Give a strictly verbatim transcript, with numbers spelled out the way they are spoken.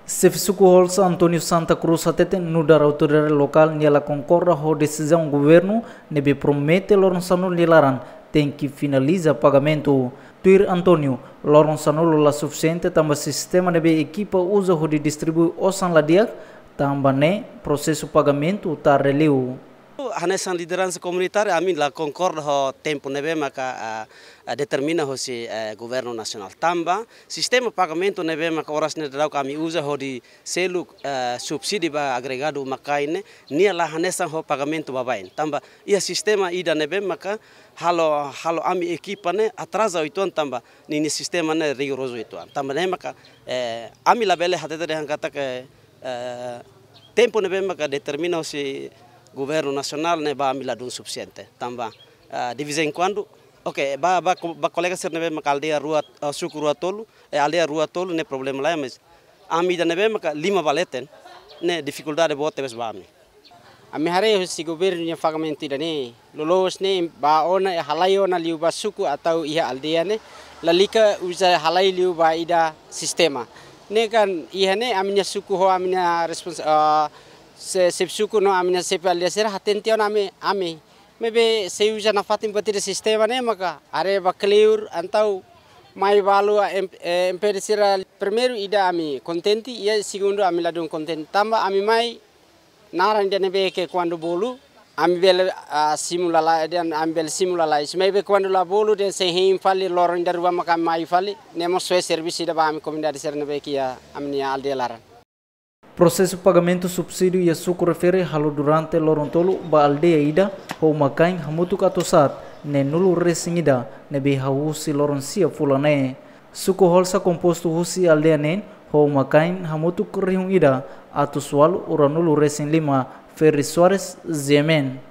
Xefe Suku Holsa António Santa Cruz hateten nu'udar autoridade lokál nia la konkorda ho desizaun governu ne'ebé promete loron sanulu nia laran tenke finaliza pagamentu. Tuir António, loron sanulu la sufisiente tanba sistema ne'ebé ekipa uza hodi distribui osan la di'ak, tanba ne'e prosesu pagamentu tarde liu. Hanesan lideransa komunitária, ami la konkorda ho tempu ne'ebé maka, ah, ah, determina hosi, eh, governu nasionál. Tanba sistema pagamentu ne'ebé maka oras ne'e daudaun ami uza hodi selu, eh, subsídiu ba agregadu uma-kain ne'e, nia la hanesan ho pagamentu baibain. Tanba iha sistema ida ne'ebé maka halo, halo ami ekipa ne'e atraza uitoan tanba ninia sistema ne'e rigorozu uitoan. Tanba ne'e maka, eh, ami labele hatete dehan katak, eh, tempu ne'ebé maka determina hosi governu nasionál ne'e ba ami ladún sufisiente. Tanba, eh, de vez em quando, oke, ba, ba, ba kolega sira ne'ebé maka aldeia rua, eh, suku rua tolu, eh, aldeia rua tolu ne'e problema laiha, mas ami ida ne'ebé maka lima ba leten, ne'e difikuldade boot tebes ba ami. Ami haree hosi governu nia pagamentu ida-ne'e, loloos ne'e ba ona, halai ona liu ba suku atau iha aldeia ne'e, lalika uza halai liu ba ida sistema. Ne'e kan iha ne'e ami-nia suku ho ami-nia respons-, ah, se-, xefe suku no ami-nia xefe aldeia sira hateten tiha ona ami, ami. Maibé sei uza nafatin buat ida sistema ne'e maka haree ba kleur entaun mai balu a em-, eh, M P D sira. Primeiru ida ami kontente, iha segundu ami ladún kontente. Tanba ami mai naran ida ne'ebé ke kuandu bolu, ami bele, ah, simu lalais, dehan ami bele simu lalais. Maibé kuandu la bolu dehan sei hein fali, loron ida rua maka mai fali, ne'e mós soe servisu ida ba ami komunidade sira ne'ebé ke iha ami-nia aldeia laran. Prosesu pagamentu subsídiu iha suku refere halo durante loron tolu ba aldeia ida ho uma-kain hamutuk atus haat neen-nulu resin ida ne'ebé hahú husi loron sia fulan ne'e. Suku Holsa kompostu husi aldeia neen ho uma-kain hamutuk rihun ida atus ualu ruanulu resin lima. Ferry Soares, G M N.